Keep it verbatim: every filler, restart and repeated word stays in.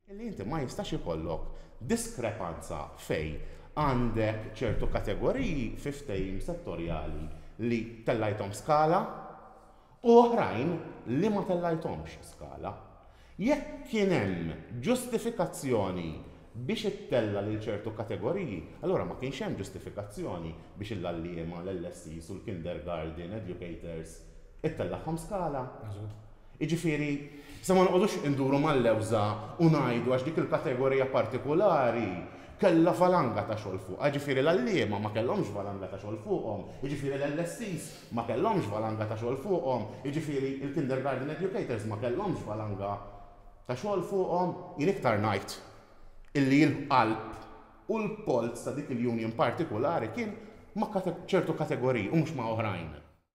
Illi inti ma jistax ikollok diskrepanza fejn għandek ċertu kategoriji fi ftehim settorjali li tellajthom skala u oħrajn li ma tellajthomx skala. Jekk kien hemm ġustifikazzjoni biex ittella lil ċertu kategoriji, allura ma kienx hemm ġustifikazzjoni biex l-għalliema, l-L S Es u l-kindergarten educators ittellagħhom skala. Iġifieri, sa ma noqogħdux induru mal-lewża u ngħidu għax dik il-kategorija partikolari kellha valanga ta' xogħol fuq. Ġifieri l-għalliema ma kellhomx valanga ta' xogħol fuqhom, jiġifieri l-L S Es ma kellhomx valanga ta' xogħol fuqhom, jiġifieri il-kindergarten educators ma kellhomx valanga ta' xogħol fuqhom. Jien iktar ngħid illi l-qalb u l-polz ta' dik il-union partikolari kien ma' ċertu kategoriji u mhux ma' oħrajn.